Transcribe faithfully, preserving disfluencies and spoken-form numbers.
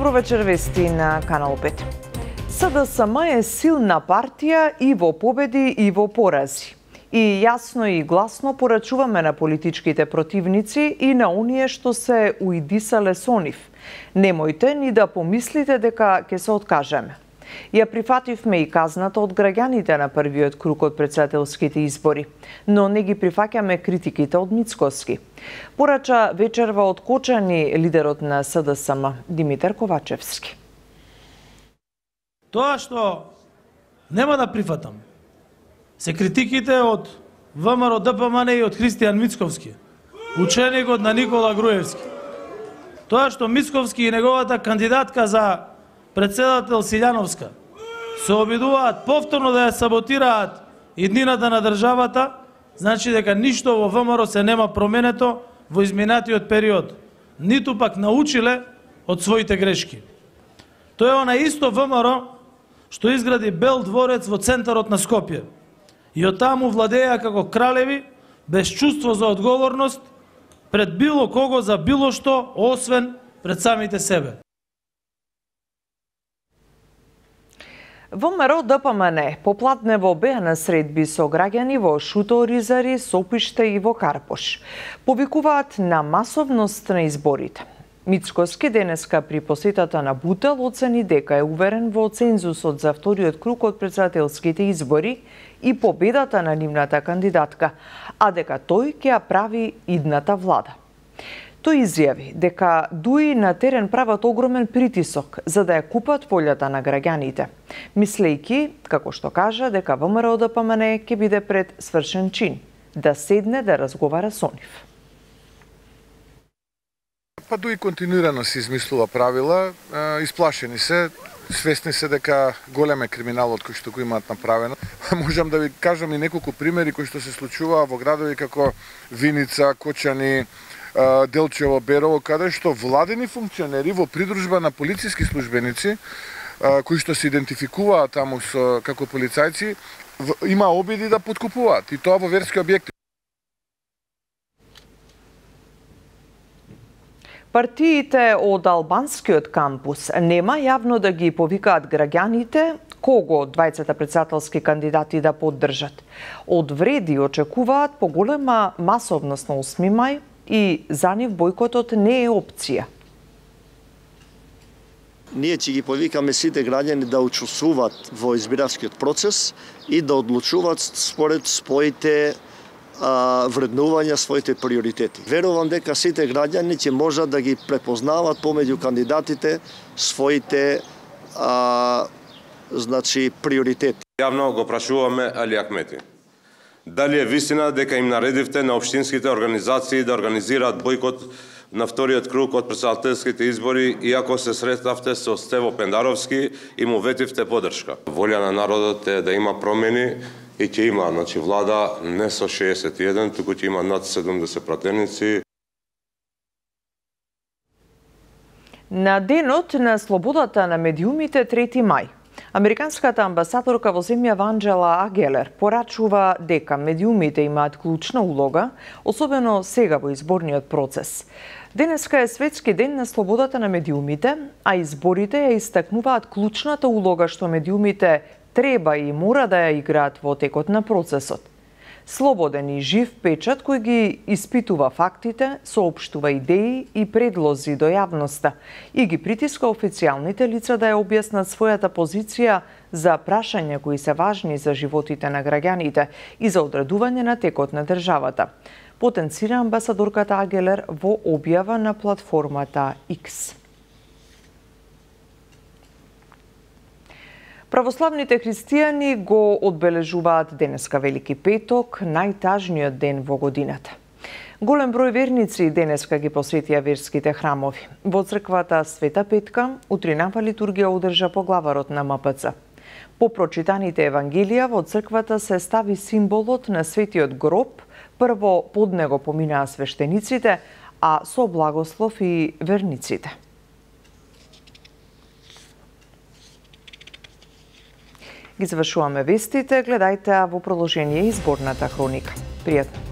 Добро вечер, вести на Канал пет. СДСМ е силна партија и во победи и во порази. И јасно и гласно порачуваме на политичките противници и на оние што се уидисале со нив. Немојте ни да помислите дека ќе се откажеме. Ја прифативме и казната од граѓаните на првиот круг од претседателските избори, но не ги прифаќаме критиките од Мицкоски. Порача вечерва од Кочани лидерот на СДСМ Димитар Ковачевски. Тоа што нема да прифатам се критиките од ВМРО ДПМН и од Христијан Мицковски, ученикот на Никола Груевски. Тоа што Мицковски и неговата кандидатка за председател Силјановска се обидуваат повторно да ја саботираат иднината на државата, значи дека ништо во ВМРО се нема променето во изминатиот период, ниту пак научиле од своите грешки. Тоа е она исто ВМРО што изгради Бел дворец во центарот на Скопје и од таму владеја како кралеви без чувство за одговорност пред било кого за било што, освен пред самите себе. ВМРО ДПМН поплатнево беа на средби со граѓани во Шуто, Оризари, Сопиште и во Карпош. Повикуваат на масовност на изборите. Мицкоски денеска при посетата на Бутел оцени дека е уверен во цензусот за вториот круг од претседателските избори и победата на нивната кандидатка, а дека тој ќе ја прави идната влада. Тој изјави дека дуи на терен прават огромен притисок за да ја купат волјата на граѓаните, мислејќи, како што кажа, дека ВМРО ДПМН ќе биде пред свршен чин, да седне да разговара со нив. Па дуи континуирано се измислува правила, исплашени се, свесни се дека голем е криминалот кој што го имаат направено. Можам да ви кажам и неколку примери кои што се случуваа во градови како Виница, Кочани, Делчево, Берово, каде што владени функционери во придружба на полициски службеници кои што се идентификуваат таму со како полицајци, има обиди да подкупуваат и тоа во верски објекти. Партиите од албанскиот кампус нема јавно да ги повикаат граѓаните кого од двајцата претседателски кандидати да поддржат. Од вреди очекуваат поголема масовност на осми мај и за нив бојкотот не е опција. Ние ќе ги повикаме сите граѓани да учествуваат во избирачкиот процес и да одлучуваат според своите а, вреднувања, своите приоритети. Верувам дека сите граѓани ќе можат да ги препознават помеѓу кандидатите своите а, значи приоритети. Јавно го прашуваме Али Ахмети. Дали е вистина дека им наредивте на општинските организации да организираат бојкот на вториот круг од претседателските избори, иако се сретнавте со Стево Пендаровски и му ветивте поддршка? Волја на народот е да има промени и ќе има, значи влада не со шеесет и еден, туку ќе има над седумдесет пратеници. На денот на слободата на медиумите трети мај, американската амбасадорка во земјава Анџела Агелер порачува дека медиумите имаат клучна улога, особено сега во изборниот процес. Денеска е светски ден на слободата на медиумите, а изборите ја истакнуваат клучната улога што медиумите треба и мора да ја играат во текот на процесот. Слободен и жив печат кој ги испитува фактите, соопштува идеи и предлози до јавноста и ги притиска официјалните лица да ја објаснат својата позиција за прашања кои се важни за животите на граѓаните и за одредување на текот на државата, потенцира амбасадорката Агелер во објава на платформата X. Православните христијани го одбележуваат денеска Велики петок, најтажниот ден во годината. Голем број верници денеска ги посветија верските храмови. Во црквата Света Петка утринава литургија одржа поглаварот на М П Ц. По прочитаните евангелија во црквата се стави символот на светиот гроб, прво под него поминаа свештениците, а со благослов и верниците. Ги завршуваме вестите, гледајте во продолжение изборната хроника. Пријатно!